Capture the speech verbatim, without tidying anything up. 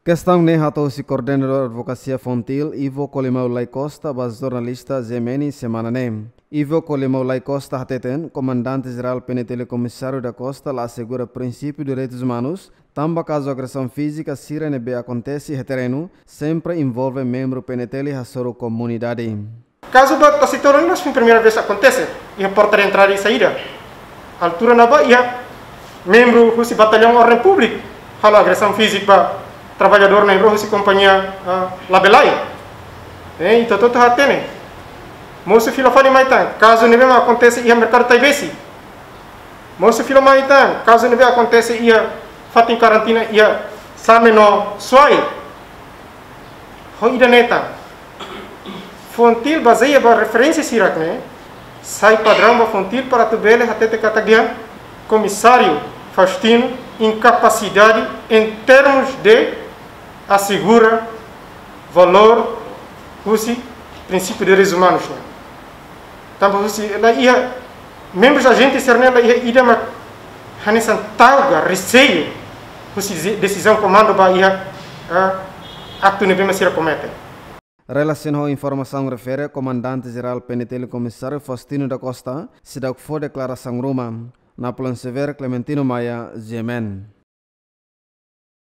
Kestaun ne'e hato'o husi Koordenadór Advokasia Fontil, Ivo Colimão Lay Costa, ba jornalista G M N semana ne'e. Ivo Colimão Lay Costa hateten, Komandante Jerál P N T L Komisáriu da Costa la asegura prinsípiu direitus umanus, tanba kazu agresaun fízika sira ne'ebé akontese iha terrenu, sempre envolve membru P N T L hasoru komunidade. Kazu ba Tasitolu ne'e la foin primeira vez akontese, iha porta de entrada e saída. Altura ne'ebá iha membru husi Batallaun Orden Públika halo agresaun fízika ba traballadór na'in-rua husi kompañia, ah, Labelai. Eh, ita hotu hatene. Mosu fila fali mai tan, kazu ne'ebé mak akontese iha Merkadu Taibesi. Mosu fila mai tan, kazu ne'ebé akontese iha fatin karantina iha Same no Suai. Ho ida-ne'e tan. Fontil bazeia ba referénsia sira-ne'e, sai padraun ba Fontil para atu bele hatete katak dehan Komisáriu Faustino inkapasidade em termos de asegura valór husi prinsípiu direitus umanus ne'e. Tanba husi la iha, membrus ajente sira-ne'e la iha ida mak hanesan tauga, reseiu husi desi-, desizaun komandu ba iha, ah, aktu ne'ebé mak sira komete. Relasiona ho informasaun refere, Komandante Jerál P N T L Komisáriu Faustino da Costa seidauk fó deklarasaun ruma. Napoleão Severo, Clementino Maia, G M N.